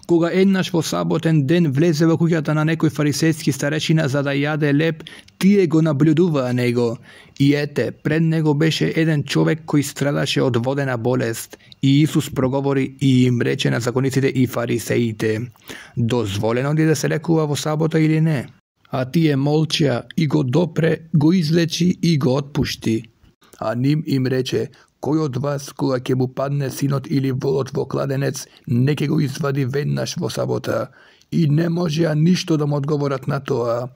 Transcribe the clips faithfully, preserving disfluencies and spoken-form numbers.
Кога еднаш во саботен ден влезе во куќата на некој фарисејски старешина за да јаде леб, тие го наблюдуваа него. И ете, пред него беше еден човек кој страдаше од водена болест. И Исус проговори и им рече на закониците и фарисеите: дозволено ли да се лекува во сабота или не? А тие молчеа и го допре, го излечи и го отпушти. А ним им рече: кој од вас, кога ќе му падне синот или волот во кладенец, не ќе го извади веднаш во сабота? И не можеа ништо да му одговорат на тоа.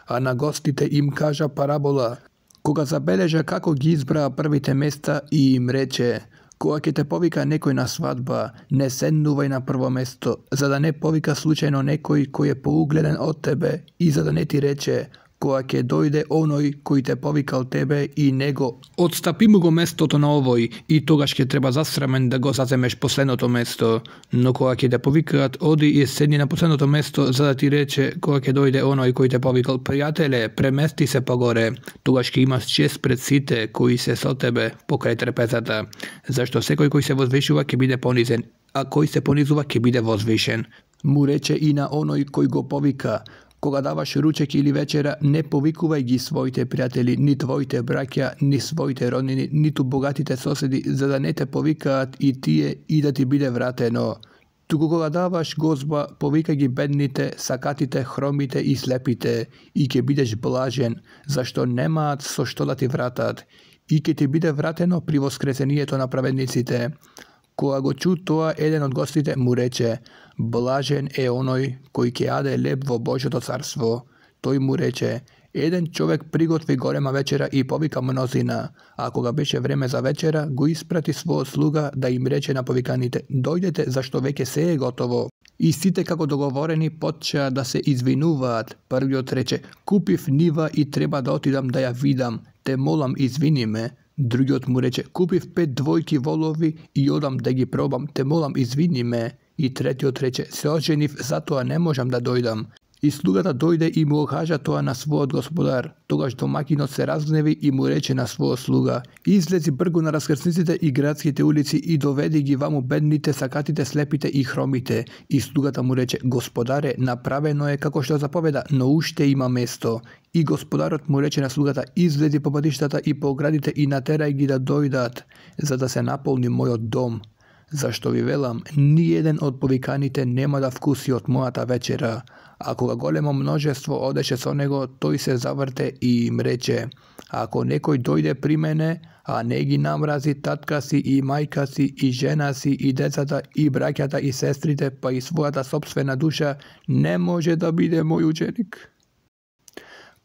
А на гостите им кажа парабола. Кога забележа како ги избраа првите места и им рече: кога ќе те повика некој на свадба, не седнувај на прво место, за да не повика случајно некој кој е поугледен од тебе и за да не ти рече: кога ќе дојде оној кој те повикал тебе и него, отстапи му го местото на овој, и тогаш ќе треба засрамен да го заземеш последното место. Но кога ќе те повикаат, оди и седни на последното место, за да ти рече кога ќе дојде оној кој те повикал: пријателе, премести се погоре, тогаш ќе имаш чест пред сите кои се со тебе покрај трпезата. Зашто секој кој се возвишува ќе биде понизен, а кој се понизува ќе биде возвишен. Му рече и на оној кој го повика: кога даваш ручек или вечера, не повикувај ги своите пријатели, ни твоите браќа, ни своите роднини, ниту богатите соседи, за да не те повикаат и тие и да ти биде вратено. Туку кога даваш гозба, повикај ги бедните, сакатите, хромите и слепите, и ќе бидеш блажен, зашто немаат со што да ти вратат, и ќе ти биде вратено при воскресението на праведниците. Кога го чу тоа, еден од гостите му рече: блажен е оној кој ќе јаде леб во Божјото царство. Тој му рече: еден човек приготви голема вечера и повика мнозина, а кога беше време за вечера, го испрати својот слуга да им рече на повиканите: дојдете, зашто веќе се е готово. И сите како договорени почеа да се извинуваат. Првиот рече: купив нива и треба да отидам да ја видам, те молам извини ме. Другиот му рече: купив пет двојки волови и одам да ги пробам, те молам извини ме. И третиот рече: се оженив, затоа не можам да дојдам. И слугата дојде и му окажа тоа на својот господар. Тогаш домакинот се разгневи и му рече на својот слуга: излези бргу на раскрсниците и градските улици и доведи ги ваму бедните, сакатите, слепите и хромите. И слугата му рече: господаре, направено е како што заповеда, но уште има место. И господарот му рече на слугата: излези по патиштата и по оградите и натерај ги да дојдат, за да се наполни мојот дом. Зашто ви велам, ни еден од повиканите нема да вкуси од мојата вечера. А кога големо множество одеше со него, тој се заврте и им рече: ако некој дојде при мене, а не ги намрази татка си и мајка си и жена си и децата и браќата и сестрите, па и својата сопствена душа, не може да биде мој ученик.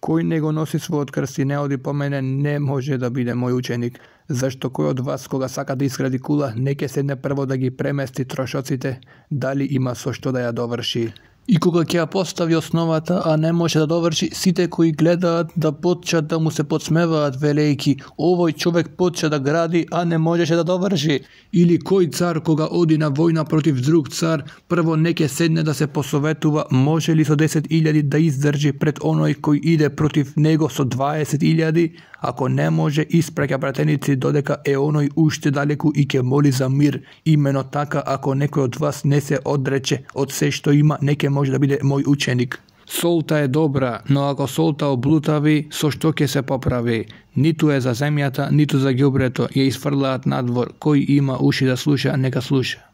Кој не го носи својот крст и не оди по мене, не може да биде мој ученик. Зашто кој од вас, кога сака да изгради кула, не ќе седне прво да ги премести трошоците, дали има со што да ја доврши. И кога ќе ја постави основата, а не може да доврши, сите кои гледаат да почнат да му се подсмеваат, велејки: овој човек почна да гради, а не можеше да доврши. Или кој цар кога оди на војна против друг цар, прво не ќе седне да се посоветува може ли со десет илјади да издржи пред оној кој иде против него со дваесет илјади, ако не може, испраќа пратеници додека е оној уште далеку и ќе моли за мир. Имено така, ако некој од вас не се одрече од се што има, не ќе може да биде мој ученик. Солта е добра, но ако солта облутави, со што ќе се поправи? Ниту е за земјата, ниту за ѓубрето, ја изфрлаат надвор. Кој има уши да слуша, нека слуша.